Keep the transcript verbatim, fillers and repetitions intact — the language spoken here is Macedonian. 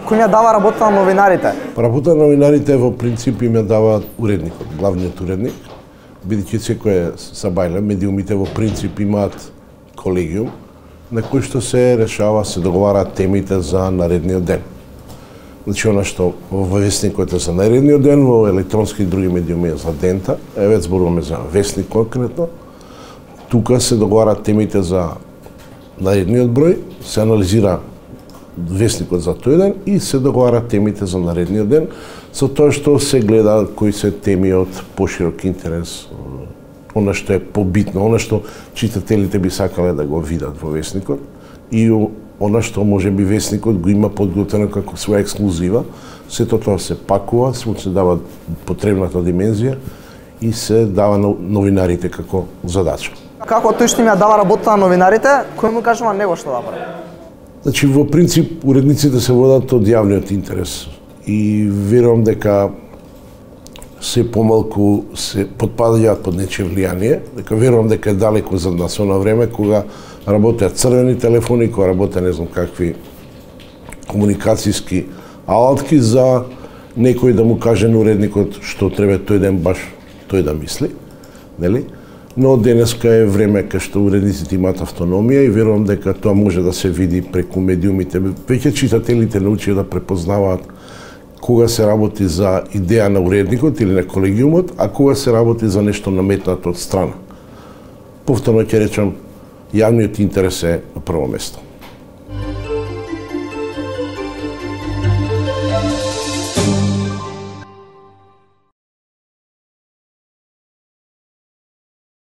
Кој ја дава работа на новинарите? Работа на новинарите во принцип им ја дава уредникот, главниот уредник, бидејќи секој сабајле, медиумите во принцип имаат колегиум на кој што се решава, се договараат темите за наредниот ден. Значи, она што во весникот е за наредниот ден, во електронски и други медиуми е за дента, еве зборуваме за весник конкретно, тука се договараат темите за наредниот број, се анализира весникот за тој ден и се договараат темите за наредниот ден, со тоа што се гледа кои се теми од поширок интерес, она што е побитно, она што читателите би сакале да го видат во весникот и она што може би весникот го има подготвено како своја ексклузива, сето тоа се пакува, се дава потребната димензија и се дава на новинарите како задача. Како тој што им ја дава работа на новинарите, кој му кажува него што да прави? Значи, во принцип, уредниците се водат од јавниот интерес и верувам дека се помалку се подпадаат под нечие влијание, дека верувам дека е далеку за нас оно време кога работеат црвени телефони, кога работеат не знам какви комуникацијски алатки за некој да му каже на уредникот што треба тој ден баш тој да мисли, нели? Но денеска е време кај што уредниците имаат автономија и верувам дека тоа може да се види преку медиумите. Веќе читателите научија да препознаваат кога се работи за идеја на уредникот или на колегиумот, а кога се работи за нешто наметнато од страна. Повторно ќе речам, јавниот интерес е на прво место.